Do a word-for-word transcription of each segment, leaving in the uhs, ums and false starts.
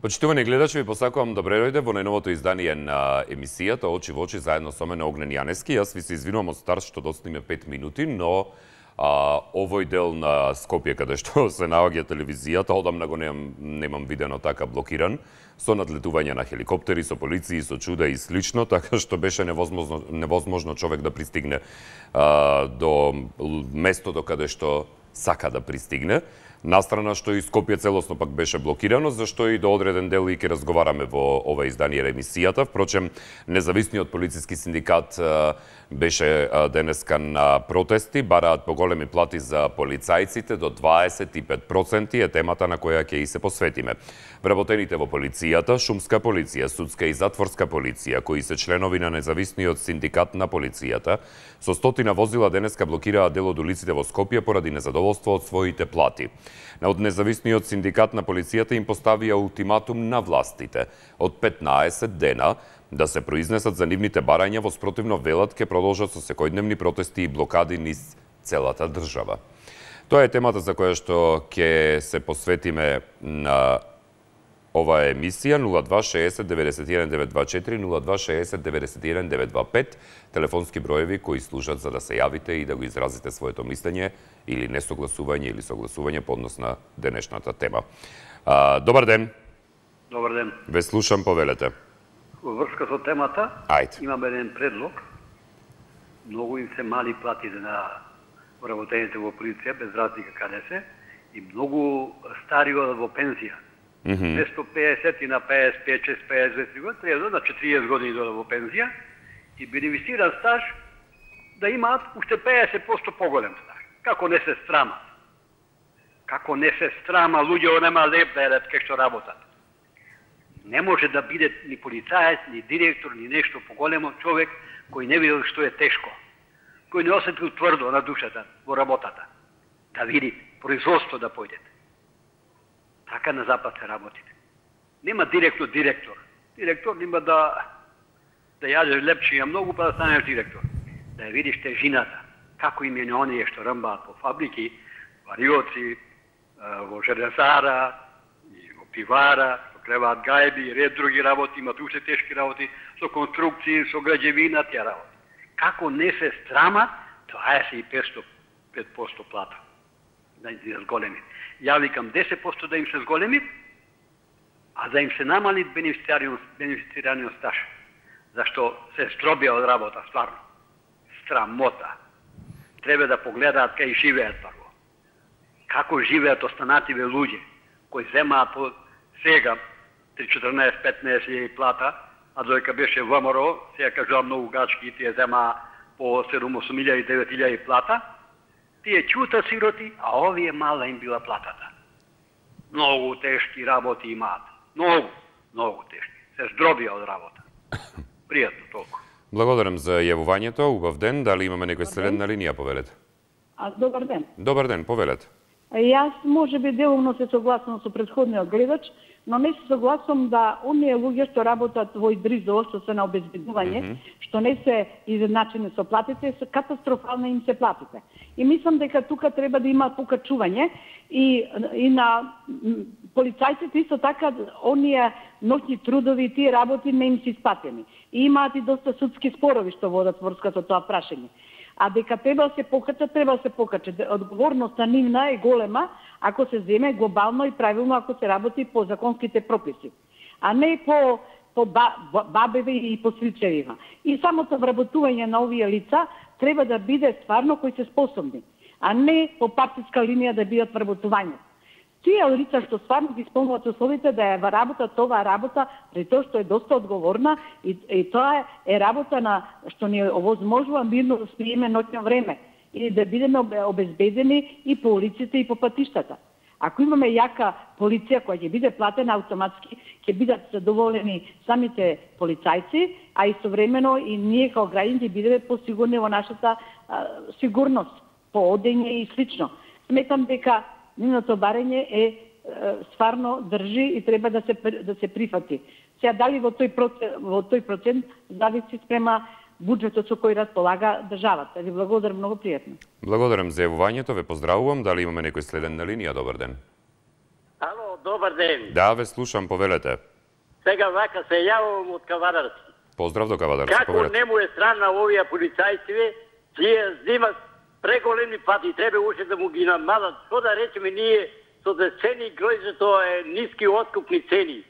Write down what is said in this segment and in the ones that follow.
Почитувани гледачи, ви посакувам добре дојде во најновото издание на емисијата Очи во очи заедно со мене Огнен Јаневски. Јас ви се извинувам од старт што достигне пет минути, но а, овој дел на Скопје каде што се наоѓа телевизијата, одамна го немам, немам видено така блокиран, со надлетување на хеликоптери, со полиции, со чуда и слично, така што беше невозможно, невозможно човек да пристигне а, до местото каде што сака да пристигне. Настрана што и Скопје целосно пак беше блокирано, зашто и до одреден дел и ќе разговараме во ова издание на емисијата. Впрочем, независниот полициски синдикат беше денеска на протести, бараат поголеми плати за полицајците, до дваесет и пет проценти е темата на која ќе и се посветиме. Вработените во полицијата, шумска полиција, судска и затворска полиција, кои се членови на независниот синдикат на полицијата, со стотина возила денеска блокираа дел од улиците во Скопје поради незадоволство од своите плати. Од независниот синдикат на полицијата им поставија ултиматум на властите од петнаесет дена да се произнесат за нивните барања, во спротивно велат ќе продолжат со секојдневни протести и блокади низ целата држава. Тоа е темата за која што ќе се посветиме на оваа емисија. Нула два шеесет деветдесет и еден девет два четири, нула два шеесет деветдесет и еден девет два пет, телефонски броеви кои служат за да се јавите и да го изразите своето мислење или несогласување или согласување по однос на денешната тема. А, добар ден. Добар ден. Ве слушам, повелете. Во врска со темата, Ајде. имам еден предлог. Многу им се мали платите на вработените во полиција, без разлика каде се, и многу стари одат во пензија. Mm -hmm. Место пеесет и на пеесет и пет, шест, пеесет две години, треба на четириесет години додат во пензија и бенефициран стаж да имаат уште пеесет проценти поголем стаж. Како не се страмат? Како не се страма, луѓе нема леп да едат кај што работат. Не може да биде ни полицаец, ни директор, ни нешто поголемо човек кој не видел што е тешко, кој не осетил тврдо на душата во работата, да види производство да појдете. Така на запад се работите. Нема директно директор. Директор нема да да јадеш лепчиња многу па да станеш директор. Да ја видиш тежината, како им е оние што рмбаат по фабрики, вариоци, во железара, и во пивара, што креваат гајби и ред други работи, имат уште тешки работи, со конструкции, со граđевина, тие работи. Како не се страма, дваесет и пет проценти плата. Да ги зголеми. Ја викам десет проценти да им се зголеми, а да им се намали бенефицираниот стаж. Зашто се стробија од работа, стварно. Страмота. Треба да погледаат кај живеат прво. Како живеат останативе луѓе, кои земаат по сега три четрнаесет петнаесет илјади плата, а доека беше ВМРО, сега кажувам многу гачки, тие земаа по седум осум илјади девет илјади плата, тие чута сироти, а овие мала им била платата. Многу тешки работи имаат. Многу, многу тешки. Се здробија од работа. Пријатно толку. Благодарам за јавувањето. Убав ден. Дали имаме некој следен на линија, повелете? А, добар ден. Добар ден, повелете. Јас може би делумно се согласувам со претходниот гледач, но не се согласувам да оние луѓе што работат во ИДРИЗО, што се на обезбедување, mm -hmm. што не се изедначени со платите, се катастрофално им се платите. И мислам дека тука треба да има покачување и, и на полицајците исто така оние ноќни трудови, тие работи не им се испатени. И имаат и доста судски спорови што водат врска со тоа прашање. А дека треба да се покача, треба да се покача. Одговорноста нивна е голема ако се земе глобално и правилно, ако се работи по законските прописи, а не по, по бабеви и по стричевима. И самото вработување на овие лица треба да биде стварно кои се способни, а не по партиска линија да бидат вработување. Тие лица што стварно ги исполнуваат условите да ја работат оваа работа, при тоа што е доста одговорна и, и тоа е работа на што ни овозможува мирно да спиеме ноќно време и да бидеме обезбедени и по улиците и по патиштата. Ако имаме јака полиција која ќе биде платена автоматски, ќе бидат задоволени самите полицајци, а истовремено и ние како граѓани ќе бидеме посигурни во нашата а, сигурност, по одење и слично. Сметам дека нивното барање е, е стварно држи и треба да се да се прифати. Сега дали во тој процент, во тој процент зависи спрема буџетот со кој располага државата. Ви благодарам, многу пријатно. Благодарам за јавувањето, ве поздравувам. Дали имаме некој следен на линија? Добар ден. Ало, добар ден. Да, ве слушам, повелете. Сега вака се јавувам од Кавадарци. Поздрав до Кавадарци, Како повелете. не му е стран на овие полицајци, тие зимат преголеми пати, треба уште да му ги намалат. Што да речеме ние, со да цени гројзето е ниски откупни цени.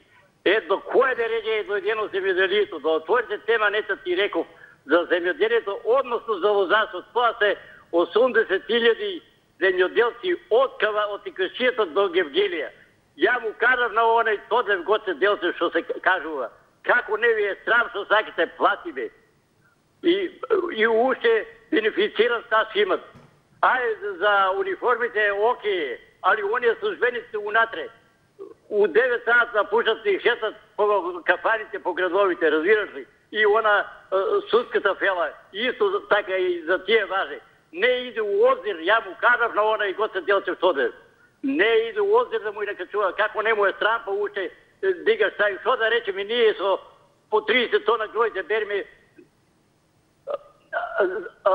Ето, кој да реже дојдено земјоделието, да отворите тема, нета ти реков, за земјоделието, односно за лозарството. Тоа се осумдесет илјади земјоделци од Кава, од Икршијата до Гевгелија. Ја му кажав на оној Тодев Гоце Делчев, што се кажува, како не ви е срам што сакате платиме. И, и уште бенефициран стаж имат. Ајде за униформите е окей, али оние службеници унатре, у девет саат напушат и шетат по кафаните, по градовите, разбираш ли? И она е, судската фела, исто така и за тие важи. Не иде у озир, ја му кажав на оној Гоце Делчев Тодев. Не иде у озир да му и накачува, како не му е срам, па уште дигаш тај. Што да речеме ние со по тридесет тона гројде береме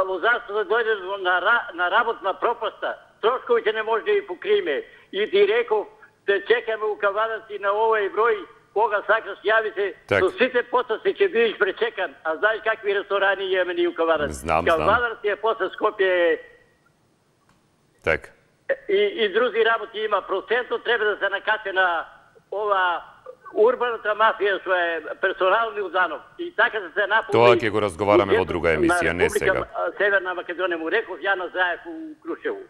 лозарство да дојде на, на работна пропаста, трошковите не може да ги покриме. И ти реков, да чекаме у Кавадарци на овој број, кога сакаш јави се, со сите потоци ќе бидеш пречекан. А знаеш какви ресторани имаме ни у Кавадарци? Знам, Кавадарци е после Скопје. Так. И, и други работи има. Процентот треба да се накаче на ова урбаната мафија, што е персонални уданов. И така да се наполни... Тоа ќе го разговараме во друга емисија, не сега. Северна Македонија му реков, ја на Заев у Крушево.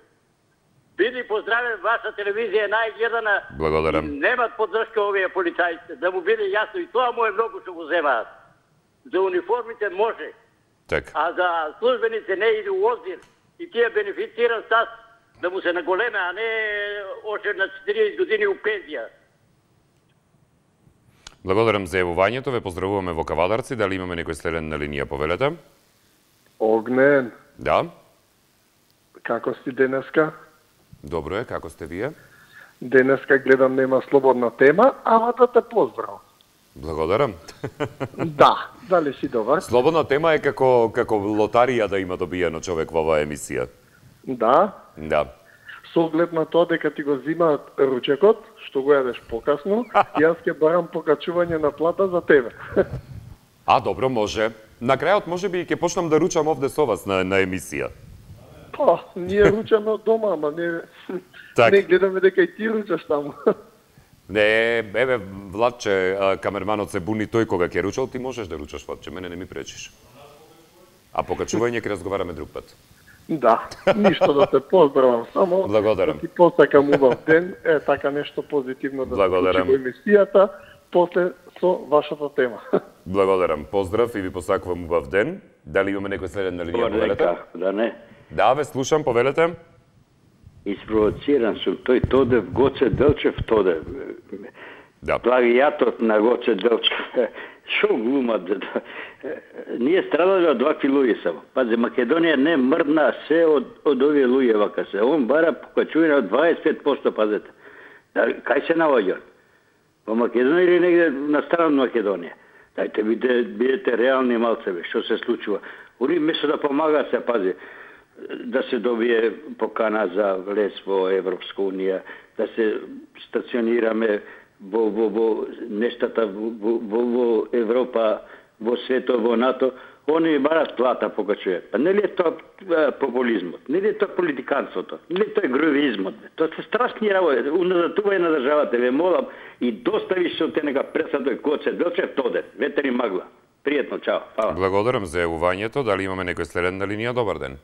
Биди поздравен, ваша телевизија е најгледана. Благодарам. Немат поддршка овие полицајци, да му биде јасно. И тоа му е многу што го земаат. За униформите може. Так. А за службените не иде у озир. И тие бенефициран стас да му се наголеме, а не още на четириесет години у пензија. Благодарам за јавувањето, ве поздравуваме во Кавадарци. Дали имаме некој следен на линија, повелете? Огнен. Да. Како си денеска? Добро е, како сте вие? Денеска гледам нема слободна тема, ама да те поздравам. Благодарам. Да, дали си добар? Слободна тема е како како лотарија да има добиено човек во оваа емисија. Да. Да. Со оглед на тоа дека ти го зимаат ручекот, што го јадеш покасно, јас ќе барам покачување на плата за тебе. А, добро, може. На крајот може би ќе почнам да ручам овде со вас на, на емисија. Па, ние ручаме од дома, ама не, так. Не гледаме дека и ти ручаш таму. Не, еве, Владче, камерманот се буни тој кога ќе ручал, ти можеш да ручаш, Владче, мене не ми пречиш. А покачување ќе разговараме друг пат. Да, ништо да те поздравам, само Благодарам. да ти посакам убав ден, е така нешто позитивно да се случи во емисијата, после со вашата тема. Благодарам, поздрав и ви посакувам убав ден. Дали имаме некој следен на линија, повелете? Да не. Да, ве слушам, повелете. Испровоциран сум, тој Тодев Гоце Делчев Тодев. Да. Плагијатот на Гоце Делчев. Шо глумат? Ние страдале од вакви луѓе само. Пази, Македонија не мрдна се од, од овие луѓе вака се. Он бара покачување од дваесет и пет проценти, пазете. Да, кај се наоѓа? Во Македонија или негде на страна од Македонија? Дајте, бидете, бидете реални малцеве, што се случува. Уни место да помага се, пази, да се добие покана за влез во Европска унија, да се стационираме во, во, во нештата во, во, во Европа, во свето, во НАТО, они барат плата покачуваат. Па нели е тоа популизмот, нели е тоа политиканството, нели тоа е гровизмот. Тоа се страшни работи, уназатување на државата, ве молам, и достави се од те нека пресадој Гоце Делчев Тодев, ветери магла. Пријатно, чао. Фала. Благодарам за јавувањето. Дали имаме некој следен на линија? Добар ден.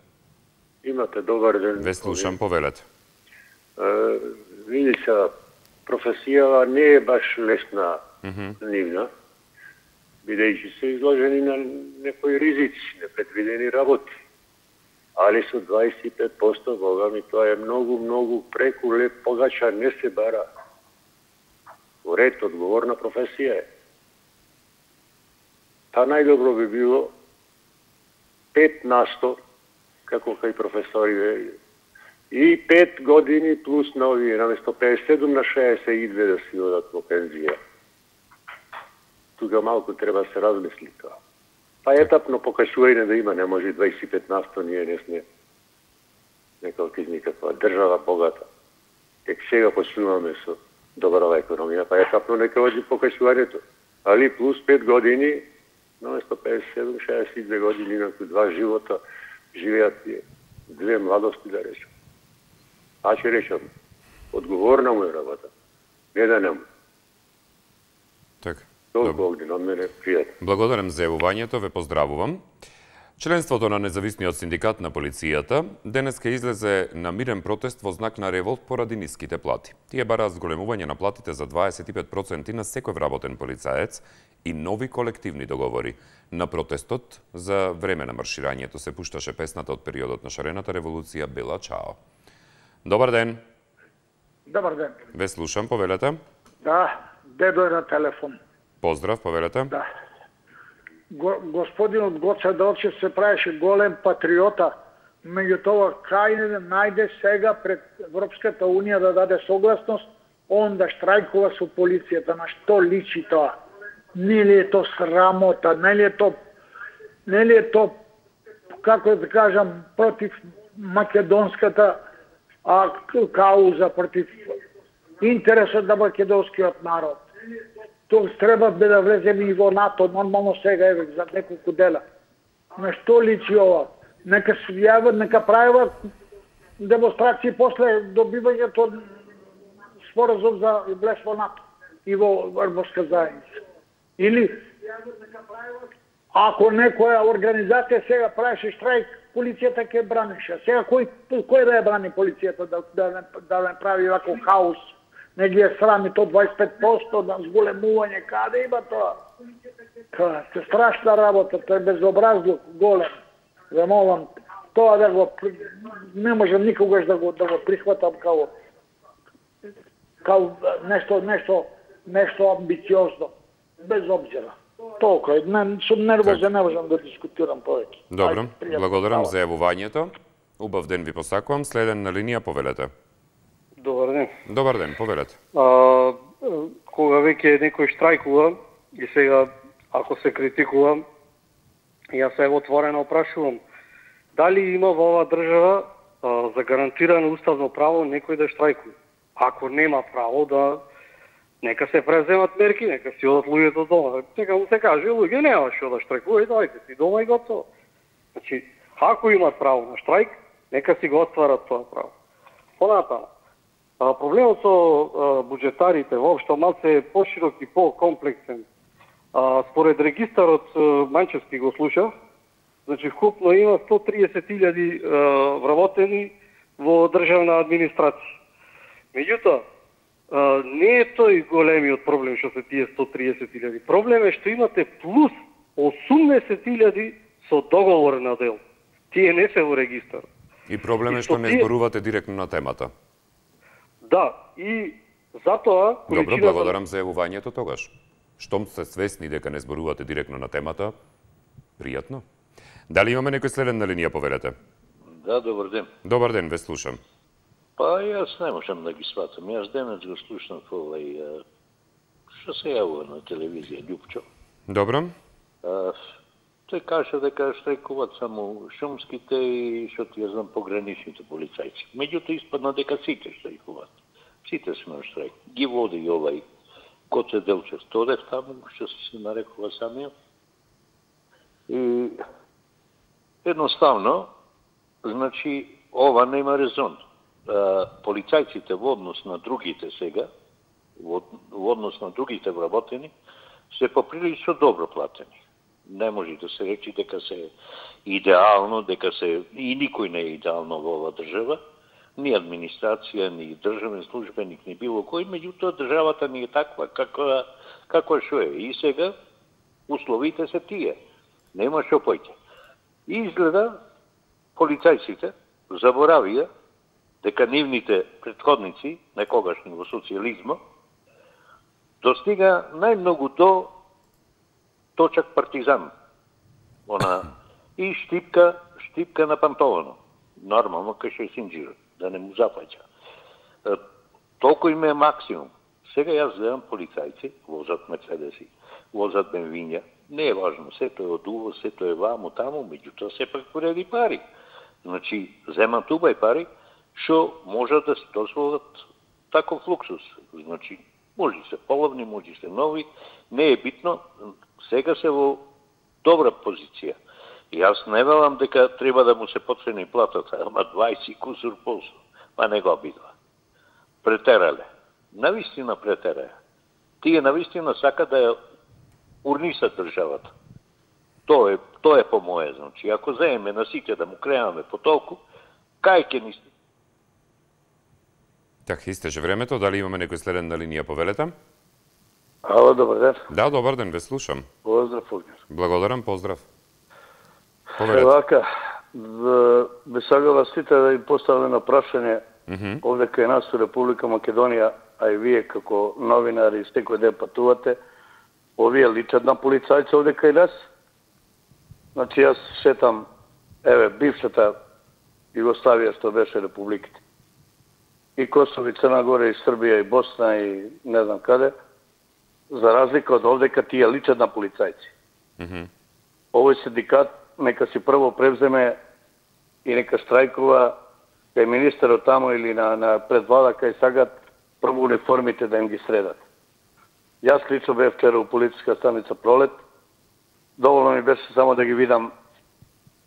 Имате добар ден. Ве слушам, повелете. Е, види се, професијава не е баш лесна, mm-hmm. нивна, бидејќи се изложени на некои ризици, непредвидени работи. Али со дваесет и пет проценти, Бога ми, тоа е многу, многу преку леп, погача не се бара. Уред, одговорна професија е. Та најдобро би било пет на сто, како кај професори, и пет години плюс на овие, наместо педесет и седум на шеесет и две да си одат во пензија. Тука малку треба да се размисли тоа. Па етапно покачување да има, не може дваесет и пет на сто, ние не сме неколку никаква држава богата. Тек сега почнуваме со добрава економија, па е капно нека оди покачувањето. Али плюс пет години, наместо педесет и седум, шеесет и две години, инаку два живота, живеат две младости, да речем. А ќе речем, одговорна му е работа, не да нему. Така. Толку огнен од мене, пријатно. Благодарам за јавувањето, ве поздравувам. Членството на независниот синдикат на полицијата денеска излезе на мирен протест во знак на револт поради ниските плати. Тие бараат зголемување на платите за дваесет и пет проценти на секој вработен полицаец и нови колективни договори. На протестот за време на марширањето се пушташе песната од периодот на шарената револуција Бела Чао. Добар ден. Добар ден. Ве слушам, повелете. Да, дедо е на телефон. Поздрав, повелете. Да. Го, господинот Гоце Делчев се правеше голем патриота, меѓутоа кај не најде сега пред Европската Унија да даде согласност, он да штрајкува со полицијата. На што личи тоа? Не ли е то срамота, не ли е то, не ли е то, како да кажам, против македонската а, кауза, против интересот на македонскиот народ. Тоа треба да влеземе и во НАТО, нормално сега еве за неколку дела. На што личи ова? Нека се јават, нека прават демонстрации после добивањето споразум за влез во НАТО и во Европска заедница. Или ако некоја организација сега правеше штрајк, полицијата ќе бранеше. Сега кој кој да ја брани полицијата да да да не прави вако хаос? Не ги е срами то дваесет и пет проценти на зголемување, каде има тоа? Тоа е страшна работа, тоа е безобразлук голем. Ве молам, тоа да го не можам никогаш да го да го прихватам као као нешто нешто нешто амбициозно, без обзира. Толку, не сум нервозен, не можам да дискутирам повеќе. Добро, благодарам за јавувањето. Убав ден ви посакувам. Следен на линија, повелете. Добар ден. Добар ден, повелете. А, кога веќе некој штрајкува и сега ако се критикува, јас се отворено опрашувам дали има во оваа држава а, за гарантирано уставно право некој да штрајкува. Ако нема право да нека се преземат мерки, нека си одат луѓето дома. Нека му се каже, луѓе нема што да штрајкуваат, доаѓате си дома и готово. Значи, ако имат право на штрајк, нека си го отварат тоа право. Понатаму, проблемот со а, буџетарите воопшто малце е поширок и по-комплексен. А, според регистарот Манчевски го слушав, значи вкупно има сто триесет илјади вработени во државна администрација. Меѓутоа, не е тој големиот проблем што се тие сто триесет илјади. Проблем е што имате плюс осумдесет илјади со договор на дел. Тие не се во регистар. И проблем е што не зборувате директно на темата. Да, и затоа... Добро, благодарам за јавувањето тогаш. Штом сте свесни дека не зборувате директно на темата, пријатно. Дали имаме некој следен на линија, повелете? Да, добар ден. Добар ден, ве слушам. Па јас не можам да ги сватам. Јас денес го слушнав овај што се јавува на телевизија Љупчо. Добро. А, тој каже дека штрајкуваат само шумските и што ти ја знам пограничните полицајци. Меѓутоа испадна дека сите штрајкуваат. Сите сме на штрајк. Ги води и овај Гоце Делчев Тодев таму, што се нарекува самиот. И едноставно, значи, ова нема резон. Полицајците во однос на другите сега, во однос на другите вработени, се поприлично добро платени. Не може да се речи дека се идеално, дека се и никој не е идеално во оваа држава, ни администрација, ни државен службеник, ни било кој, меѓутоа државата ни е таква каква каква што е. И сега условите се тие. Нема што поќе. И изгледа полицајците заборавија дека нивните претходници, некогашни во социјализма, достига најмногу до точак партизан. Она и штипка, штипка на пантовано. Нормално кај што е синџирот, да не му запаѓа. Толку им е максимум. Сега јас гледам полицајци, возат мерцедеси, возат бенвиња, не е важно, сето е од уво, сето е ваму, таму, меѓутоа сепак пореди пари. Значи, земат убај пари, што можат да се дозволат таков луксус. Значи, може се половни, може се нови, не е битно, сега се во добра позиција. И јас не велам дека треба да му се поцени платата, ама дваесет кусур полсо, па не го обидва. Претерале. Навистина претерале. Тие навистина сака да ја урнисат државата. Тоа е, тоа е по моје, значи. Ако заеме на сите да му креаме по толку, кај ќе ни... Така, истече времето. Дали имаме некој следен на линија, повелете? Ало, добар ден. Да, добар ден, ве слушам. Поздрав, Огнер. Благодарам, поздрав. Повелете. Евака, би сагала сите да им поставаме на прашање mm -hmm. овде кај нас у Република Македонија, а и вие како новинари секој ден патувате, овие личат на полицајци овде кај нас. Значи, јас сетам, еве, бившата Југославија што беше републиките. И Косово, и Црна Гора, и Србија, и Босна, и не знам каде, за разлика од овде кај тие личат на полицајци. Mm -hmm. Овој синдикат нека си прво превземе и нека штрајкува кај министерот тамо или на, на предвлада кај сагат прво униформите да им ги средат. Јас лично бев вчера у полициска станица Пролет. Доволно ми беше само да ги видам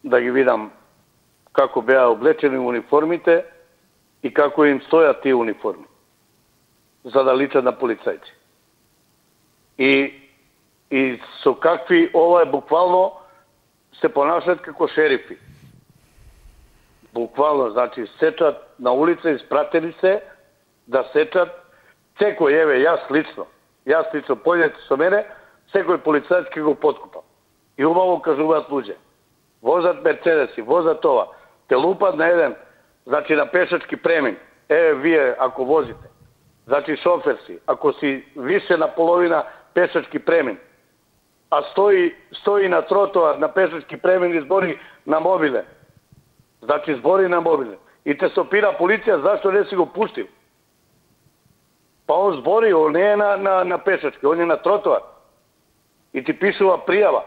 да ги видам како беа облечени униформите и како им стојат тие униформи, за да личат на полицајци. И, и со какви, ова е буквално, се понашат како шерифи. Буквално, значи, сечат на улица, испратени се да сечат секој, еве, јас лично, јас лично, појдете со мене, секој полицајц ке го подкупа. И убаво кажуваат луѓе. Возат мерцедеси, возат това. Те лупат на еден, значи на пешачки премин. Еве, вие, ако возите, значи шофер си, ако си више на половина пешачки премин, а стои, стои на тротоар на пешачки премин и збори на мобиле. Значи збори на мобиле. И те се опира полиција, зашто не си го пуштил? Па он збори, он не е на, на, на пешачки, он е на тротоар. И ти пишува пријава.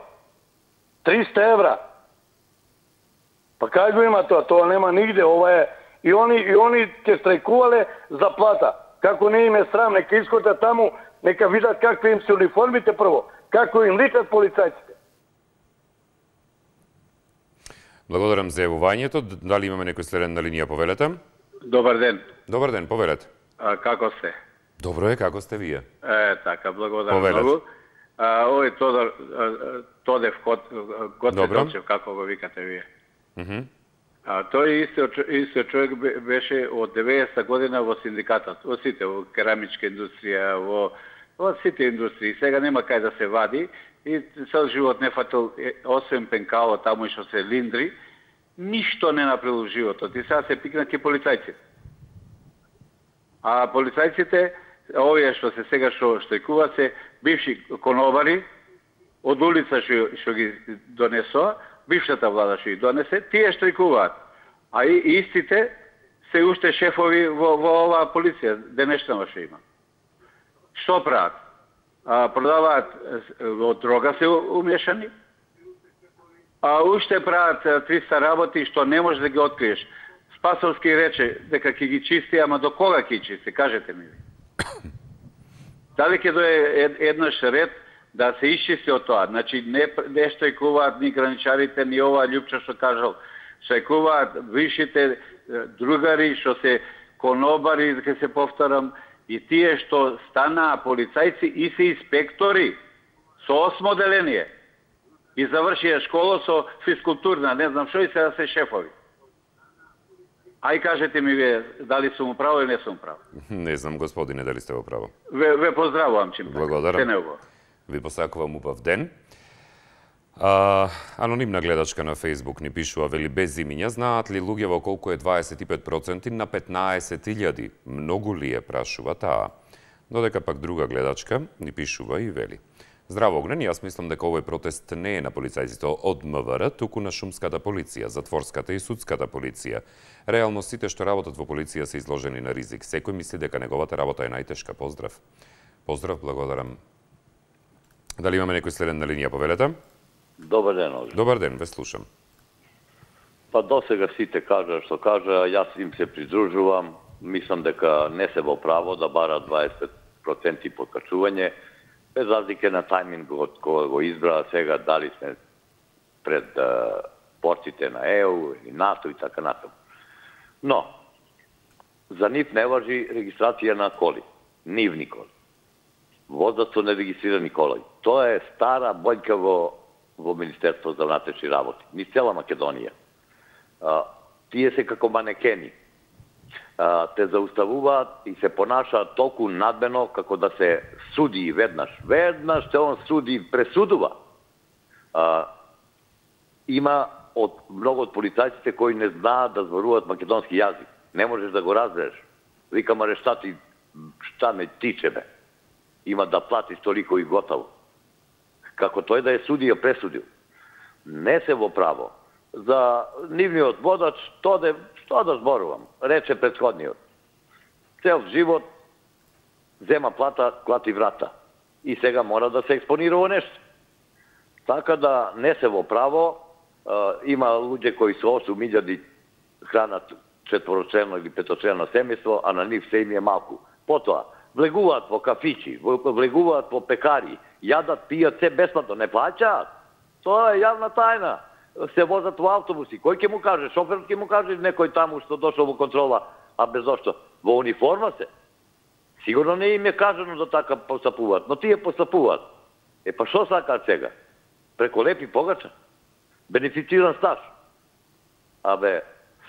триста евра. Па кај го има тоа? Тоа нема нигде. Ова е... И они, и они ќе страјкувале за плата. Како не им е срам, нека искотат таму, нека видат какви им се униформите прво. Како им личат полицајците. Благодарам за јавувањето. Дали имаме некој следен на линија, повелете? Добар ден. Добар ден, повелете. А, како сте? Добро е, како сте вие? Е, така, благодарам повелете. Многу. А, овој Тодор, Тодев Гоце Делчев, како го викате вие. Mm -hmm. А, тој исто, исто човек беше од деветдесета година во синдикатот, во сите, во керамичка индустрија, во, во сите индустрии. Сега нема кај да се вади и цел живот не фатил, освен пенкало таму и што се линдри, ништо не направил животот. И сега се пикна ке полицајците. А полицајците, овие што се сега што штрајкуваат се бивши конобари, од улица што, што ги донесоа, бившата влада што ги донесе, тие штрајкуваат. А и истите се уште шефови во, во оваа полиција, денешнава што има. Што прават? А, продаваат од дрога се умешани, а уште прават триста работи што не можеш да ги откриеш. Спасовски рече дека ќе ги чисти, ама до кога ќе ги чисти? Кажете ми. Дали ќе дое еднаш ред да се исчисти од тоа? Значи, не, не штрајкуваат ни граничарите, ни ова Љупча што кажал. Штрајкуваат вишите другари, што се конобари, ќе се повторам, и тие што станаа полицајци и се инспектори со осмо деление. И завршија школа со физкултурна, не знам што, и сега се шефови. Ај кажете ми вие, дали сум право или не сум право? Не знам, господине, дали сте во право. Ве, ве поздравувам, чим. Благодарам. Ви посакувам убав ден. А, анонимна гледачка на Фейсбук ни пишува, вели, без имиња, знаат ли луѓе во колку е дваесет и пет проценти на петнаесет илјади? Многу ли е, прашува таа. Додека пак друга гледачка ни пишува и вели. Здраво, Огнен, јас мислам дека овој протест не е на полицајците од МВР, туку на шумската полиција, затворската и судската полиција. Реално сите што работат во полиција се изложени на ризик. Секој мисли дека неговата работа е најтешка. Поздрав. Поздрав, благодарам. Дали имаме некој следен на линија, повелете? Добар ден, Огнен. Добар ден, ве слушам. Па досега сите кажа што кажа, јас им се придружувам. мислам дека не се во право да бара дваесет пет проценти подкачување, без разлike на тајмингот кога го избра сега, дали сме пред uh, порците на Е У или НАТО и така натаму. Но, за нив не важи регистрација на коли, нивни коли. Возат со нерегистрирани коли. Тоа е стара бојка во, во Министерство за внатрешни работи. Низ цела Македонија. А, тие се како манекени. А, те зауставуваат и се понашаат толку надмено како да се суди веднаш. Веднаш те он суди, пресудува. А, има од многу од полицајците кои не знаат да зборуваат македонски јазик. Не можеш да го разбереш. Викам, аре шта ти, шта ме тиче бе. Има да платиш толико и готово. Како тој да е судија пресудил. Не се во право. За нивниот водач, то де, што да зборувам, рече претходниот. Цел живот зема плата, клати врата. И сега мора да се експонира во нешто. Така да не се во право, има луѓе кои со осум илјади хранат четворочлено или петочлено семејство, а на нив се им е малку. Потоа, влегуваат во кафичи, влегуваат во пекари, јадат, пијат се бесплатно, не плаќаат. Тоа е јавна тајна. Се возат во автобуси. Кој ќе му каже? Шоферот ќе му каже некој таму што дошол во контрола, а без зошто? Во униформа се. Сигурно не им е кажано да така постапуваат, но тие постапуваат. Е па што сакаат сега? Преко лепи погача? Бенефициран стаж. Абе,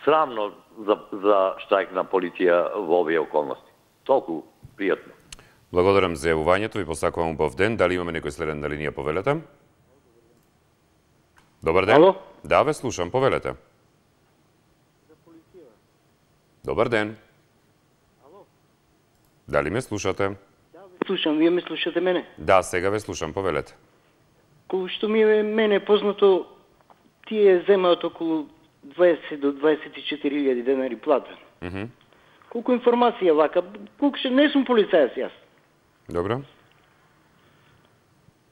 срамно за, за штрајк на полиција во овие околности. Толку пријатно. Благодарам за јавувањето, ви посакувам убав ден. Дали имаме некој следен на линија, повелете? Добар ден. Ало? Да, ве слушам, повелете. Добар ден. Ало? Дали ме слушате? Да, ве слушам, вие ме слушате мене? Да, сега ве слушам, повелете. Колку што ми е мене познато, тие земаат околу дваесет до дваесет и четири илјади денари плата. Mm -hmm. Колку информација вака, колку што не сум полицајец јас. Добро.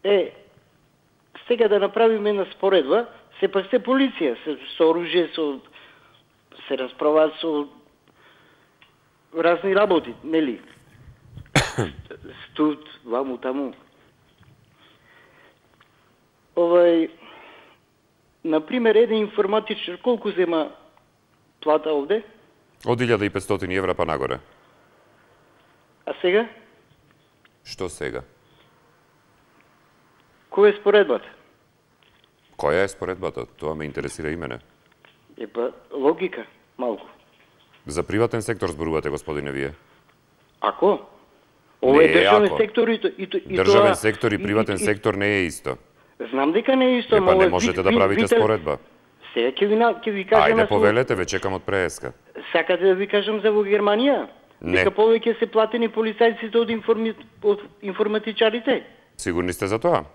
Е, сега да направиме една споредба, сепак сте полиција, се со оружје, со се расправаат со разни работи, нели? Студ, ваму таму. Овај, например, еден информатичар колку зема плата овде? Од илјада и петстотини евра па нагоре. А сега? Што сега? Која е споредбата? Која е споредбата? Тоа ме интересира и мене. Епа, логика, малку. За приватен сектор зборувате, господине, вие? Ако? Ова е државен ако. сектор и, то, и, то, и Државен тоа... сектор и приватен и, и, сектор не е исто. Знам дека не е исто, Епа, не можете да правите споредба. Сега ќе ви, ќе ви кажам... Ајде, повелете, ве чекам од преска. Сакате да ви кажам за во Германија? Не. Дека повеќе се платени полицајците од, информи... од информатичарите? Сигурни сте за тоа?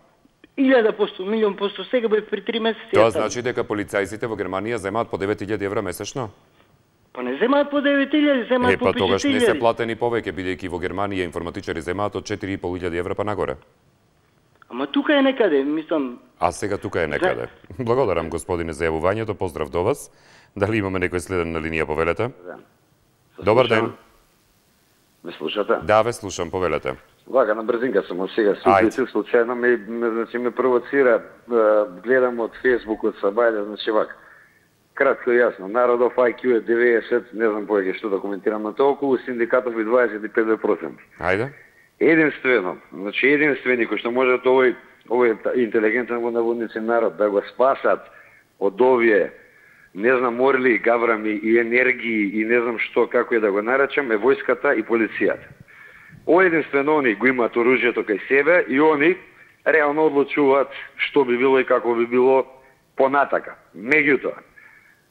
Илјада посто, милион посто, сега бе при три месеци. Тоа значи дека полицајците во Германија земаат по девет илјади евра месечно? Па не земаат по девет илјади, земаат е, по па петдесет илјади. тогаш не се платени повеќе, бидејќи во Германија информатичари земаат од четири и пол илјади евра па нагоре. Ама тука е некаде, мислам... А сега тука е некаде. Да. Благодарам, господине, за јавувањето, поздрав до вас. Дали имаме некој следен на линија, повелете? Да. Добар ден. Ме слушате? Да, ве слушам, повелете. Вака, на брзинка сум, сега се уклучив случајно, ме, ме, значи, ме провоцира, гледам од Фейсбук, од Сабајле, значи вака. Кратко и јасно, народов ај кју е деветдесет, не знам повеќе што да коментирам на тоа, околу синдикатов и дваесет и пет проценти. Ајде. Единствено, значи единствени кој што можат овој, овој интелигентен во наводници народ да го спасат од овие, не знам, орли, гаврами и енергии и не знам што, како е да го наречам, е војската и полицијата. О, единствено они го имаат оружјето кај себе и они реално одлучуваат што би било и како би било понатака. Меѓутоа,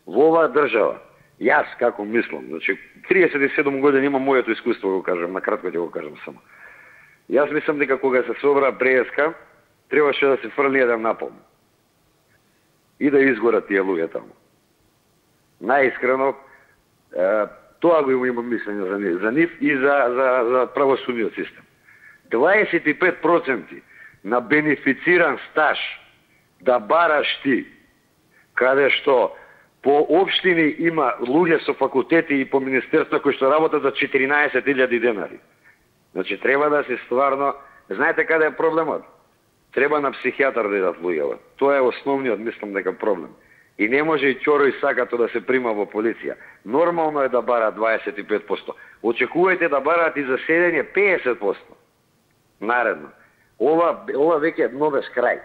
во оваа држава, јас како мислам, значи триесет и седум години имам моето искуство, го кажам, на кратко ќе го кажам само. Јас мислам дека кога се собра преска, требаше да се фрли еден напалм и да изгорат тие луѓе таму. Најискрено, тоа го имам мислење за нив, за нив и за, за, за правосудниот систем. дваесет и пет проценти на бенефициран стаж да бараш ти, каде што По општини има луѓе со факултети и по министерство кои што работат за четиринаесет илјади денари. Значи треба да се стварно, знаете каде е проблемот? Треба на психијатар да идат луѓето. Тоа е основниот, мислам дека проблем. И не може и чоро и сакато да се прима во полиција. Нормално е да бара дваесет и пет проценти. Очекувајте да бараат и за седење педесет проценти. Наредно. Ова, ова веќе е новеш крај.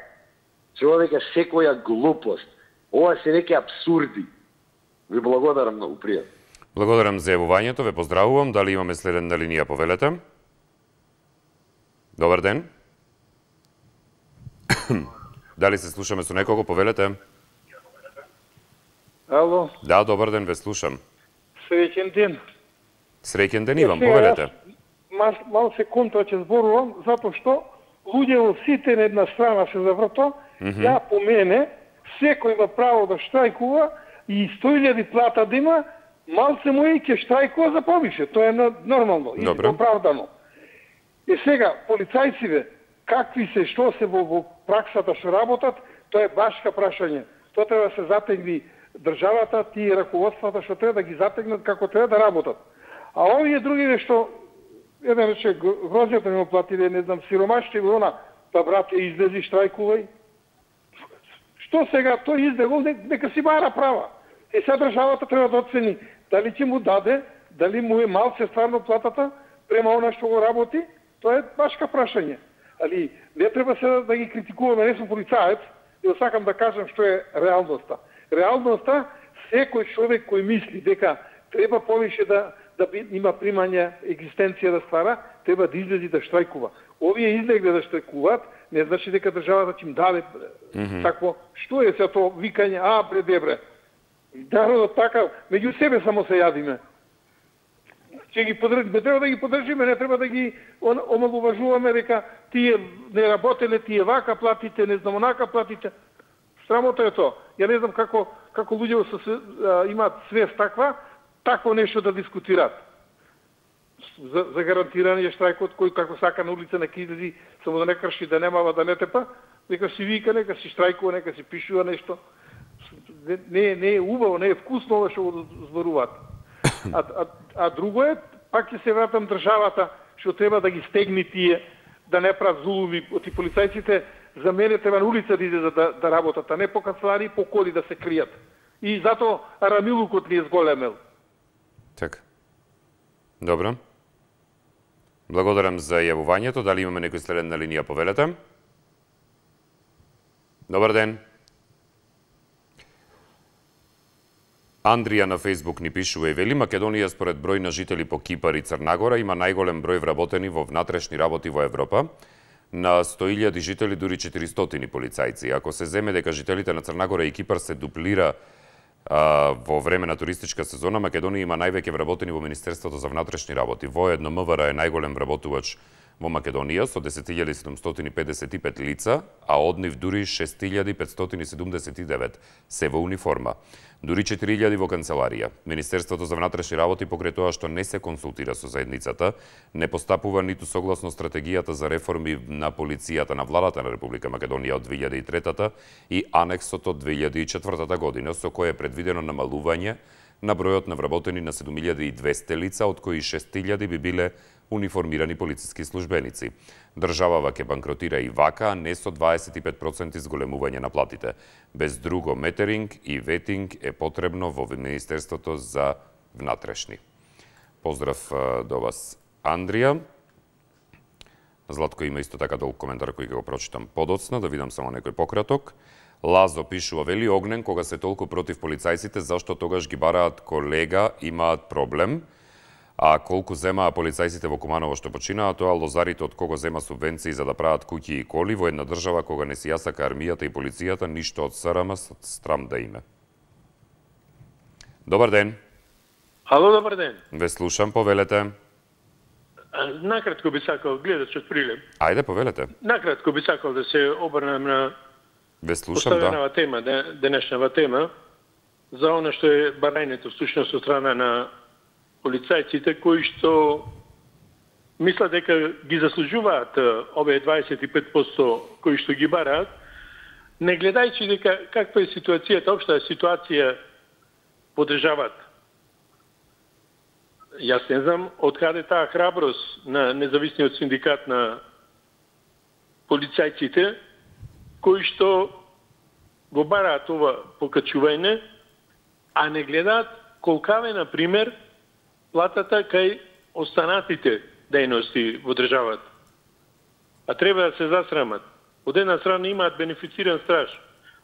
Се ова веќе секоја глупост. Ова се веќе абсурди. Ви благодарам многу, пријатно. Благодарам за јавувањето, ве поздравувам. Дали имаме следен на линија, повелете? Добар ден. Дали се слушаме со некого, повелете? Ало. Да, добар ден, ве слушам. Среќен ден. Среќен ден имам, повелете. Мал, мал се контра ќе зборувам, затоа што луѓе во сите на една страна се заврто, mm -hmm. ја по мене, секој има право да штрајкува и сто илјади плата да има, малце му и ќе штрајкува за повише. Тоа е нормално и оправдано. И сега, полицајците, какви се, што се во, во праксата што работат, тоа е башка прашање. Тоа треба да се затегни државата, тие раководствата што треба да ги затегнат како треба да работат. А овие други што еден рече грозјата ми оплатиле, не знам, сиромашите го она, да брате излези штрајкувај. Што сега тој излегол, нека си бара права. И сега државата треба да оцени дали ќе му даде, дали му е малце стварно платата према она што го работи, тоа е башка прашање. Али не треба се да ги критикуваме, не сум полицаец, и сакам да кажам што е реалноста. Реалноста, секој човек кој мисли дека треба повише да да има примање, екзистенција да ствара, треба да излези да штрајкува. Овие излегле да штрајкуваат, не значи дека државата ќе им даде mm -hmm. такво. Што е се тоа викање, а бре дебре. Народот така, меѓу себе само се јадиме. Ќе ги подржиме, треба да ги подржиме, не треба да ги омалуважуваме дека тие не работеле, тие вака платите, не знам онака платите. Срамота е тоа. Ја не знам како како луѓе се имаат свест таква, такво нешто да дискутираат. За, за гарантирање штрајкот кој како сака на улица нека излези, само да не крши, да немава, да не тепа, нека си вика, нека си штрајкува, нека си пишува нешто. Не, не, не е убаво, не е вкусно ова што го зборуваат. А, а, а друго е, пак ќе се вратам државата, што треба да ги стегни тие, да не прават зулуми. Оти полицајците за мене треба на улица да излезат да, да работат, а не по канцелари, по коли да се кријат. И затоа арамилукот ни е зголемел. Така. Добро. Благодарам за јавувањето. Дали имаме некој следен на линија, повелете? Добар ден. Андрија на Фејсбук ни пишува и вели: Македонија според број на жители по Кипар и Црнагора има најголем број вработени во внатрешни работи во Европа. На сто илјади жители дури четиристотини полицајци. Ако се земе дека жителите на Црнагора и Кипар се дуплира а, во време на туристичка сезона, Македонија има највеќе вработени во Министерството за внатрешни работи. Воедно МВР е најголем вработувач во Македонија со десет илјади седумстотини педесет и пет лица, а од нив дури шест илјади петстотини седумдесет и девет се во униформа. Дури четири илјади во канцеларија. Министерството за внатрешни работи покрај тоа што не се консултира со заедницата, не постапува ниту согласно стратегијата за реформи на полицијата на владата на Република Македонија од две илјади и трета и анексот од две илјади и четвртата година, со кој е предвидено намалување на бројот на вработени на седум илјади и двесте лица, од кои шест илјади би биле униформирани полициски службеници. Државава ќе банкротира и вака, не со дваесет и пет проценти зголемување на платите. Без друго, метеринг и ветинг е потребно во Министерството за внатрешни. Поздрав до вас, Андрија. Златко има исто така долг коментар кој ќе го прочитам подоцна, да видам само некој пократок. Лазо пишува, вели: Огнен, кога се толку против полицајците, зашто тогаш ги бараат колега, имаат проблем? А колку земаа полицајците во Куманово што починаа, тоа лозарите од кого зема субвенции за да прават куќи и коли во една држава кога не си јасака армијата и полицијата, ништо од СРМ, страм да име. Добар ден. Ало, добар ден. Ве слушам, повелете. Накратко би сакал, гледачот Прилеп. Ајде, повелете. Накратко би сакал да се обрнем на Ве слушам, да. тема, денешнава тема, за она што е барањето всушност од страна на полицајците кои што мислат дека ги заслужуваат овие дваесет и пет проценти кои што ги бараат, не гледајќи дека каква е ситуацијата, општа ситуација подржават. Јас не знам од каде таа храброст на независниот синдикат на полицајците, кои што го бараат ова покачување, а не гледаат колкава е, например, платата кај останатите дејности во државата. А треба да се засрамат. Од една страна имаат бенефициран страж,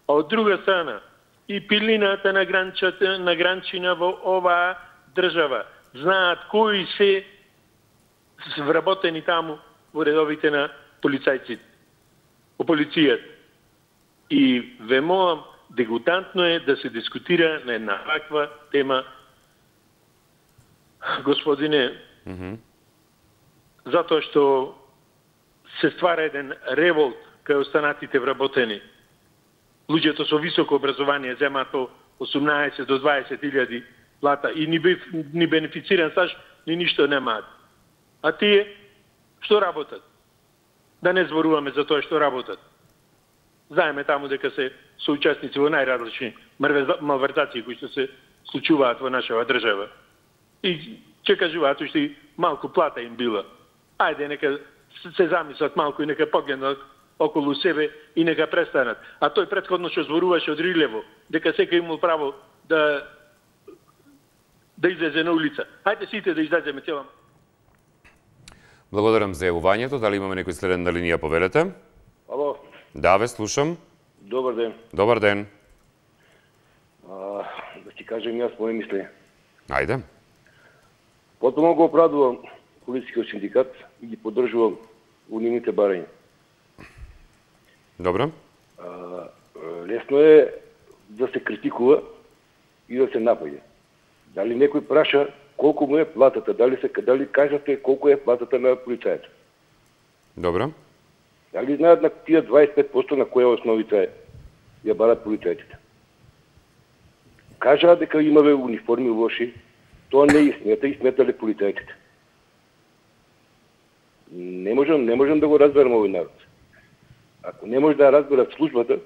а од друга страна и пилината на гранчата, на гранчина во оваа држава знаат кои се вработени таму во редовите на полицајците, во полицијата. И ве молам, дегутантно е да се дискутира на една ваква тема, господине, mm -hmm. затоа што се ствара еден револт кај останатите вработени. Луѓето со високо образование земаат по осумнаесет до дваесет илјади плата и ни, ни бенефициран стаж, ни ништо немаат. А тие што работат? Да не зборуваме за тоа што работат. Знаеме таму дека се соучесници во најразлични малвертации кои што се случуваат во нашава држава. И ќе кажуваат уште малку плата им била. Ајде, нека се замислат малку и нека погледнат околу себе и нека престанат. А тој претходно што зборуваше од Рилево, дека секој имал право да да излезе на улица. Хајде сите да излеземе цела. Благодарам за јавувањето. Дали имаме некој следен на линија, повелете? Ало. Да, ве слушам. Добар ден. Добар ден. А, да ти кажем јас моје мислење. Ајде. Потоа го оправдувам полицискиот синдикат и ги поддржувам унивните барања. Добро. А, лесно е да се критикува и да се напаѓа. Дали некој праша колку му е платата, дали се дали кажате колку е платата на полицајот? Добро. Дали знаат на тие дваесет и пет проценти на која основица ја барат полицајците? Кажаат дека имале униформи лоши, тоа не е истината и сметале полицајците. Не можам, не можам да го разберам овој народ. Ако не може да разберат службата,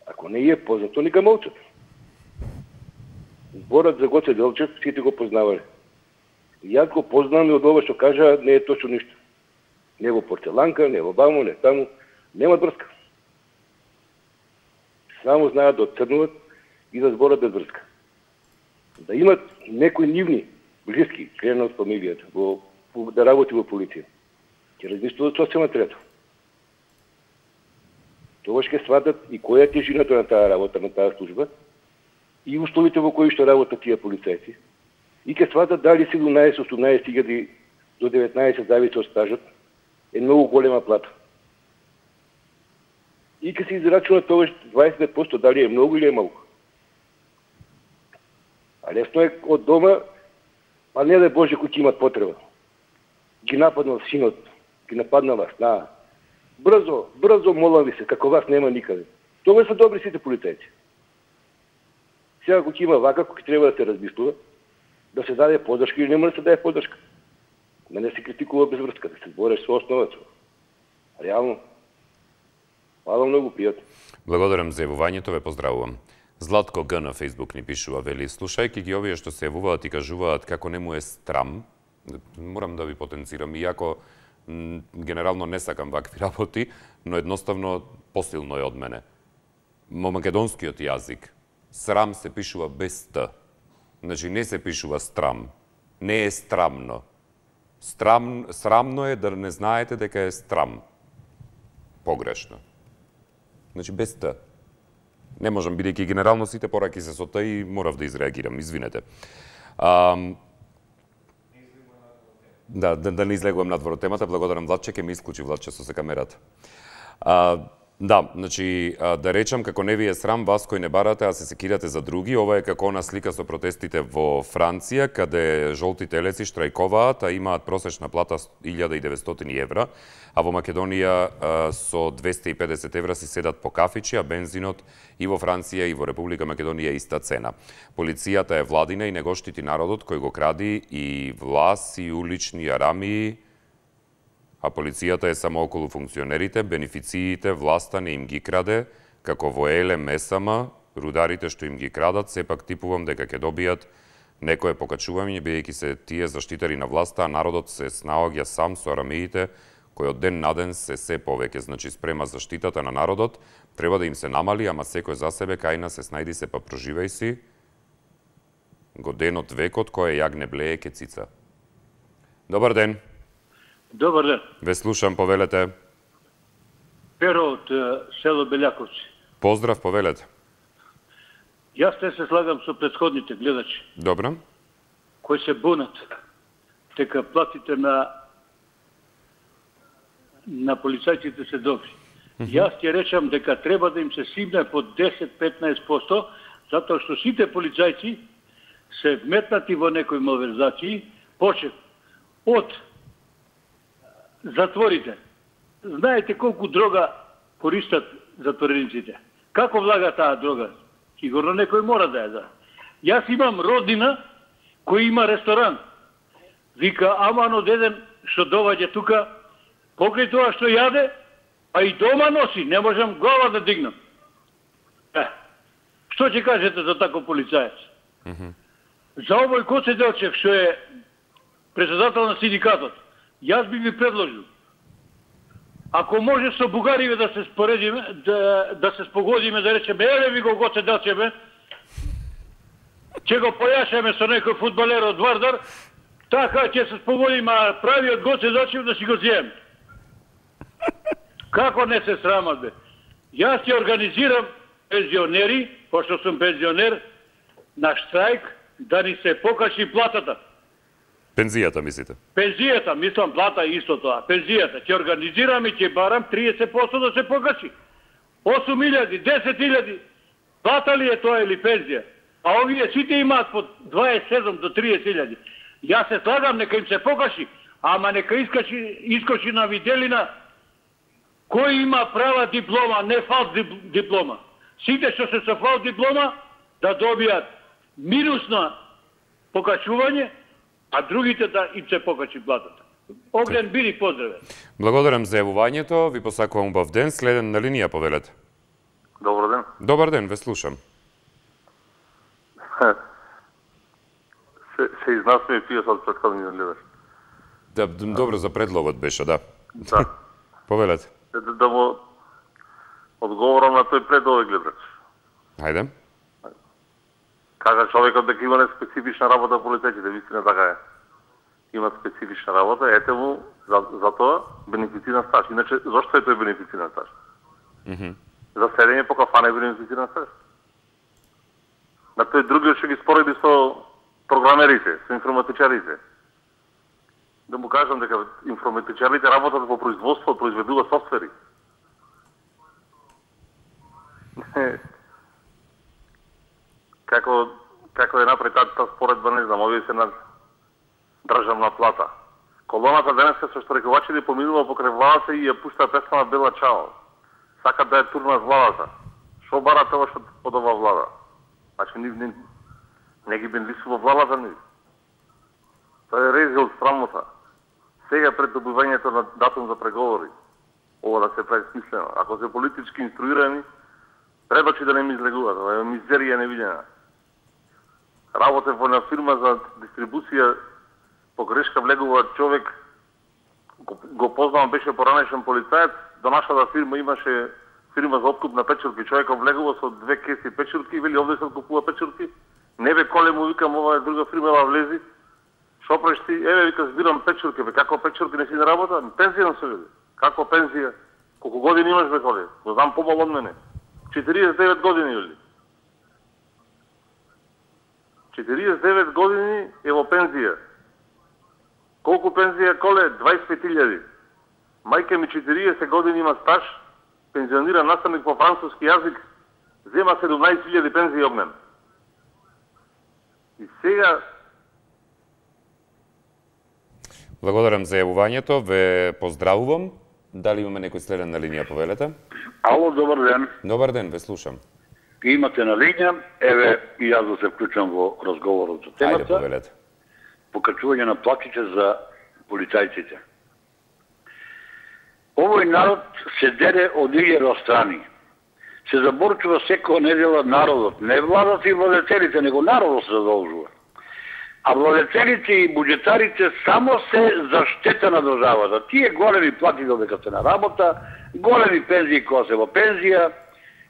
ако не е познато, нека молчат. Зборот за Гоце Делчев сите го познавале. Јас го познавам и од ова што кажа не е точно ништо. Не во порцеланка, не во баму, не таму. Нема врска. Само знаат да отцрнуват и да зборат без врска. Да имат некои нивни, блиски, члена од фамилијата, во, да работи во полиција. Ќе размислуват сосема трето. Тоа ќе сватат и која е тежината на таа работа, на таа служба, и условите во кои што работат тие полицајци. И ќе сватат дали седумнаесет осумнаесет илјади до деветнаесет зависи од стажот е многу голема плата. И ќе се израчунат тоа дваесет проценти дали е многу или е малку. А лесно е од дома, па не да Боже кои ќе имат потреба. Ги нападнал синот, ги нападнала снаа. Брзо, брзо молам ви се, како вас нема никаде. Тоа се добри сите полицајци. Сега кој има вака, кој треба да се размислува, да се даде поддршка или не може да се даде поддршка. Да не се критикува без врска, да се бореш со основата. Реално. Хвала многу, пријатно. Благодарам за јавувањето, ве поздравувам. Златко Г на Фейсбук ни пишува, вели, слушајќи ги овие што се јавуваат и кажуваат како не му е страм, морам да ви потенцирам, иако генерално не сакам вакви работи, но едноставно посилно е од мене. Во македонскиот јазик срам се пишува без т. Значи не се пишува страм. Не е страмно. Страм, срамно е да не знаете дека е страм. Погрешно. Значи без т. Не можам, бидејќи генерално сите пораки се со т и морав да изреагирам, извинете. А, да, да, да не излегувам надвор од темата, благодарам Владче, ке ми исклучи Владче со се камерата. А, Да, значи, да речам, како не ви е срам вас кои не барате, а се секирате за други, ова е како она слика со протестите во Франција, каде жолти телеци штрајковаат, а имаат просечна плата илјада и деветстотини евра, а во Македонија со двесте и педесет евра си седат по кафичи, а бензинот и во Франција и во Република Македонија иста цена. Полицијата е владина и не го штити народот кој го кради и влас и улични арамии, а полицијата е само околу функционерите, бенефициите, власта не им ги краде, како во Еле Месама, рударите што им ги крадат, сепак типувам дека ќе добијат некое покачување, бидејќи се тие заштитари на власта, а народот се снаоѓа сам со арамеите, кои од ден на ден се се повеќе. Значи, спрема заштитата на народот, треба да им се намали, ама секој за себе, кајна се снајди се, па проживај си, годенот векот, кој јагне блее ке цица. Добар ден. Добар ден. Ве слушам, повелете. Перо од село Белјаковци. Поздрав, повелете. Јас те се слагам со претходните гледачи. Добро. Кои се бунат дека платите на на полицајците се добри. Mm -hmm. Јас ќе речам дека треба да им се симне по десет до петнаесет проценти, затоа што сите полицајци се вметнати во некои малверзации, почет од затворите. Знаете колку дрога користат затворениците? Како влага таа дрога? Сигурно некој мора да ја да. Јас имам роднина кој има ресторан. Вика, аман од еден што доваѓа тука, покрај тоа што јаде, а и дома носи, не можам глава да дигнам. Е, што ќе кажете за тако полицаец? Mm -hmm. За овој Гоце Делчев, што е председател на синдикатот, јас би ви предложил, ако може со бугариве да се споредиме, да, да се спогодиме, да речеме, еле ви го Гоце Делчеве, ќе го појашаме со некој фудбалер од Вардар, така ќе се спогодиме, а правиот Гоце Делчев да си го зием. Како не се срамат, бе? Јас ќе организирам пензионери, пошто сум пензионер, на штрајк, да ни се покачи платата. Пензијата, мислите? Пензијата, мислам плата исто тоа. Пензијата. Ќе организирам и ќе барам триесет проценти да се покачи. осум илјади, десет илјади. Плата ли е тоа или пензија? А овие сите имаат по дваесет и седум до триесет илјади. Јас се слагам, нека им се покачи, ама нека искачи, искочи на виделина кој има права диплома, не фалс диплома. Сите што се со фалс диплома да добијат минусно покачување, а другите да им се покачи платата. Огнен Бири, поздраве. Благодарам за јавувањето, ви посакувам убав ден, следен на линија, повелете. Добар ден. Добар ден, ве слушам. се, се изнасме тие со претходниот гледач. Да, добро за предлогот беше, да. Да. Повелете. Да, да му одговорам на тој предлог гледач. Хајде. Кажа човекот дека има специфична работа полицајците, вистина така е. Има специфична работа, ете му за, за тоа бенефициран стаж. Иначе, зошто е тој бенефициран стаж? Mm -hmm. За седење по кафана е бенефициран стаж. На тој другиот што ги спореди со програмерите, со информатичарите. Да му кажам дека информатичарите работат во производство, произведуваат софтвери. Како, како е напред таа споредба, не знам, овие се на државна плата. Колоната денеска со штрекувачите поминува покрај владата и ја пушта песна Бела Чао. Сакат да ја турнат владата. Шо бара тоа што од ова влада? Значи, не, не, не ги бенлисува владата ни. Тоа е рези од срамота. Сега пред добивањето на датум за преговори, ова да се прави смислено. Ако се политички инструирани, треба че да не ми излегуваат. Ова е мизерија невидена. Работе во една фирма за дистрибуција, погрешка влегува човек, го, го познавам, беше поранешен полицаец, до нашата фирма имаше фирма за откуп на печурки. Човекот влегува со две кеси печурки и вели овде се откупува печурки. Не бе, коле му викам, ова е друга фирма, ова влези. Шо преш ти? Еве, вика, збирам печурки, бе, како печурки не си на работа? Пензија се веде. Како пензија? Колку години имаш, бе, коле? Го знам помало од мене. четириесет и девет години, вели. четириесет и девет години е во пензија. Колку пензија, коле? дваесет и пет илјади. Мајка ми четириесет години има стаж, пензиониран наставник по француски јазик, зема седумнаесет илјади пензија огнен. И сега... Благодарам за јавувањето, ве поздравувам. Дали имаме некој следен на линија, повелете? Ало, добар ден. Добар ден, ве слушам. Имате на линија, еве и јас да се вклучам во разговорот за темата. Ајде, повелете. Покачување на платите за полицајците. Овој народ се дере од илјада страни. се заборчува секоја недела народот, не владата и владетелите, него народот се задолжува. А владетелите и буџетарите само се за штета на државата. Тие големи плати додека се на работа, големи пензии кога се во пензија,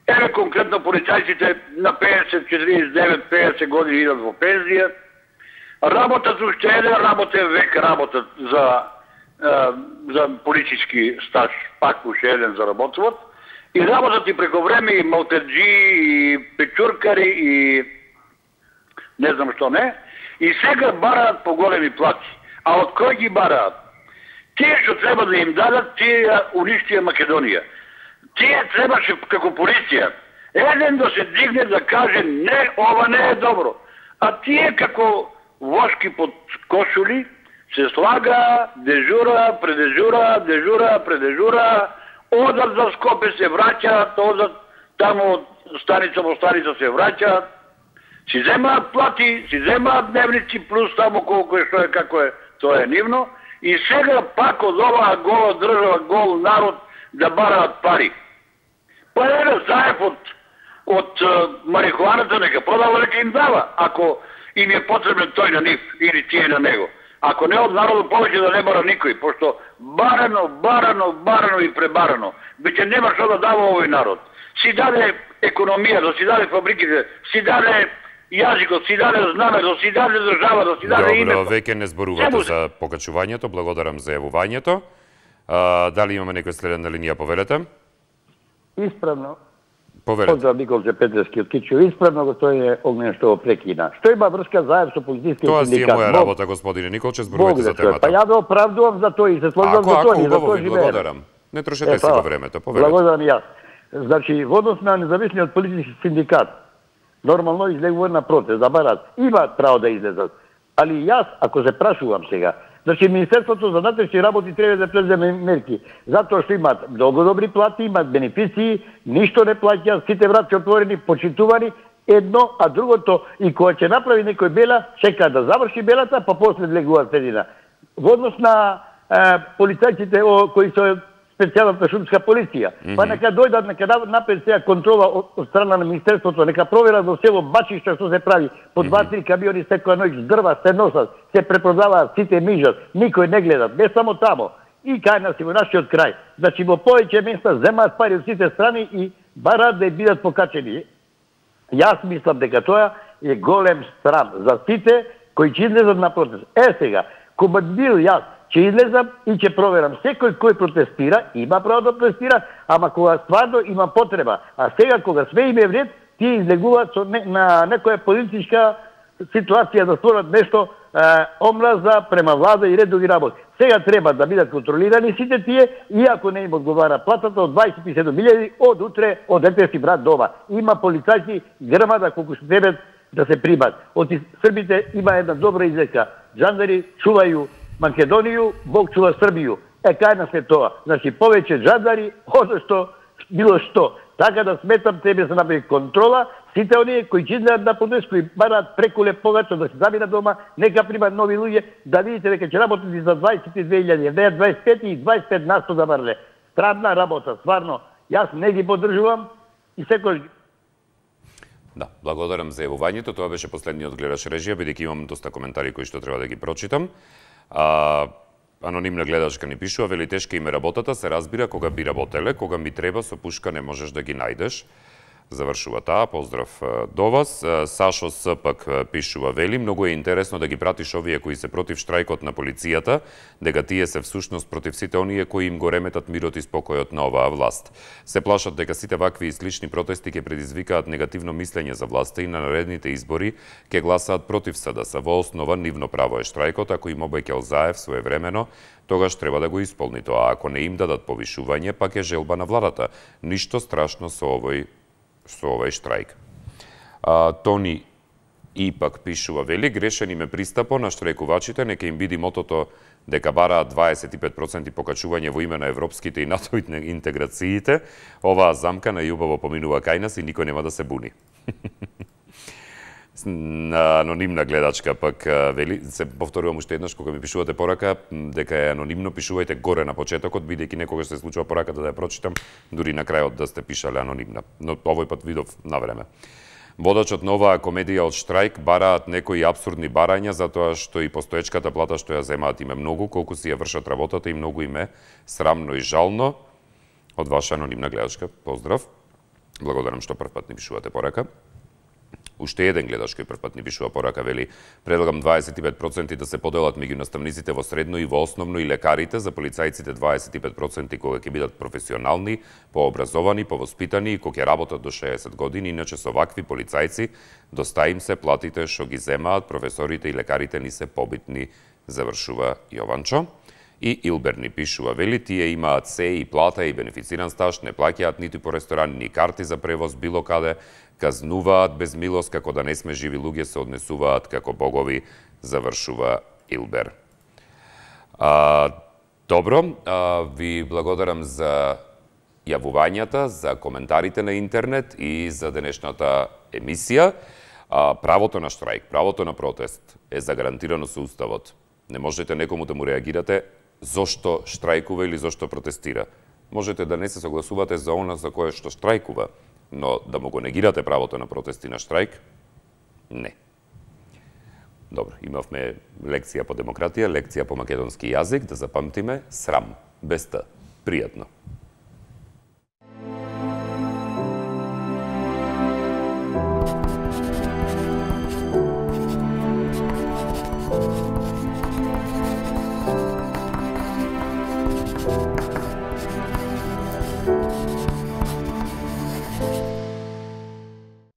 еве конкретно полицајците на пеесет, четириесет и девет, пеесет години идат во пензија, работат уште еден работен век, работат за, за политички стаж, пак уште еден заработуват, и работат и преко време и малтеджи, и печуркари, и не знам што не, и сега бараат по големи плати. А од кој ги бараат? Тие што треба да им дадат, тие уништија Македонија. Тие требаше како полиција еден да се дигне да каже не, ова не е добро. А тие како вошки под кошули се слага, дежура, предежура, дежура, предежура, одат за Скопје се враќаат, одат таму од станица во станица се враќаат, си земаат плати, си земаат дневници, плюс таму колку е, што е, како е, тоа е нивно, и сега пак од оваа гола држава, гол народ, да бараат пари. Па еве заев од, од марихуаната нека продава, нека им дава, ако им е потребен тој на нив или тие на него. Ако не од народот повеќе да не бара никој, пошто барано, барано, барано и пребарано, веќе нема што да дава овој народ. Си даде економијата, си даде фабриките, си даде јазикот, си даде знамето, си даде државата, си даде името. Добро, веќе не зборувате за покачувањето, благодарам за јавувањето. А, дали имаме некој следен на линија, повелете? Исправно. Повелете. Поздрав Николче Петревски од Кичево. Исправно господин Огнен што го прекина. Што има врска заев со полицискиот Тоа синдикат? си е моја работа, господине Николче, зборувајте за темата. Па ја да оправдувам за тој и се сложам за тој, за тој живеем. Благодарам. Не трошете си во времето, повелете. Благодарам јас. Значи, во однос на независниот политички синдикат, нормално излегува на протест, да барат, имаат право да излезат. Али јас, ако се прашувам сега, значи Министерството за внатрешни работи треба да преземе мерки, затоа што имаат многу добри плати, имаат бенефиции, ништо не плаќаат, сите врати отворени, почитувани, едно, а другото, и кога ќе направи некој бела, чека да заврши белата, па после влегуваат средина. Во однос на е, полицајците о, кои се специјалната шумска полиција, mm -hmm. па нека дојдат, нека напред сега контрола од, од страна на Министерството, нека проверат во село Бачишта што се прави, по два-три камиони секоја ноќ дрва се носат, се препродаваат, сите мижат, никој не гледат, не само тамо, и кај нас и во нашиот крај. Значи во повеќе места земаат пари од сите страни и бараат да бидат покачени. Јас мислам дека тоа е голем срам за сите кои ќе излезат на протест. Е сега, кога бил јас, ќе излезам и ќе проверам секој кој протестира, има право да протестира, ама кога стварно има потреба. А сега кога све им е вред, тие излегуваат со не, на некоја политичка ситуација да створат нешто е, омраза према влада и редови работи. Сега треба да бидат контролирани сите тие, и ако не им одговара платата од дваесет и седум илјади, од утре, од дете си брат дома. Има полицајци грмада колку што треба да се примат. Од Србите има една добра изрека. Жандари чувају Македонију, Бог чува Србију. Е, кај нас е тоа. Значи, повеќе джандари, одно што, било што. Така да сметам, тебе се направи контрола, сите оние кои ќе излезат на протест, кои бараат прекуле повеќе да се заминат дома, нека примат нови луѓе, да видите дека ќе работат и за дваесет и две илјади, не дваесет и пет и дваесет и пет на сто да барле. Странна работа, стварно. Јас не ги поддржувам и секој. Да, благодарам за јавувањето. Тоа беше последниот гледач режија, бидејќи имам доста коментари кои што треба да ги прочитам. А, анонимна гледачка ни пишува, вели тешка им е работата, се разбира кога би работеле, кога ми треба со пушка не можеш да ги најдеш. Завршува таа, поздрав до вас. Сашо С пак пишува, вели, многу е интересно да ги пратиш овие кои се против штрајкот на полицијата, дека тие се всушност против сите оние кои им го реметат мирот и спокојот на оваа власт. Се плашат дека сите вакви и слични протести ќе предизвикаат негативно мислење за власта и на наредните избори ќе гласаат против СДС. Во основа нивно право е штрајкот, ако им обеќал Заев своевремено, тогаш треба да го исполни тоа. Ако не им дадат повишување, пак е желба на владата. Ништо страшно со овој со овој штрајк. А, Тони и пак пишува, вели, грешен им е пристапо на штрајкувачите, нека им биди мотото дека бараат дваесет и пет проценти покачување во име на европските и НАТО интеграциите. Оваа замка најубаво поминува кај нас и никој нема да се буни. Анонимна гледачка пак вели, се повторувам уште еднаш кога ми пишувате порака дека е анонимно, пишувајте горе на почетокот, бидејќи некогаш се случува пораката да ја прочитам, дури на крајот да сте пишале анонимна. Но овој пат видов на време. Водачот на оваа комедија од штрајк бараат некои апсурдни барања затоа што и постоечката плата што ја земаат им е многу, колку си ја вршат работата и многу им е срамно и жално. Од ваша анонимна гледачка, поздрав. Благодарам што првпат ни пишувате порака. Уште еден гледач кој првпат ни пишува порака вели: предлагам дваесет и пет проценти да се поделат меѓу наставниците во средно и во основно и лекарите, за полицајците дваесет и пет проценти кога ќе бидат професионални, пообразовани, повоспитани и кога ќе работат до шеесет години, иначе со вакви полицајци доста им се платите што ги земаат, професорите и лекарите ни се побитни, завршува Јованчо. И Илбер ни пишува, вели, тие имаат се и плата и бенефициран стаж, не плаќаат ниту по ресторан, ни карти за превоз било каде, казнуваат без милост, како да не сме живи луѓе, се однесуваат како богови, завршува Илбер. А, добро, а, ви благодарам за јавувањата, за коментарите на интернет и за денешната емисија. А, правото на штрајк, правото на протест е загарантирано со Уставот. Не можете некому да му реагирате зошто штрајкува или зошто протестира. Можете да не се согласувате за она за кое што штрајкува, но да му го негирате правото на протест и на штрајк, не. Добро, имавме лекција по демократија, лекција по македонски јазик, да запамтиме, срам, без т, пријатно.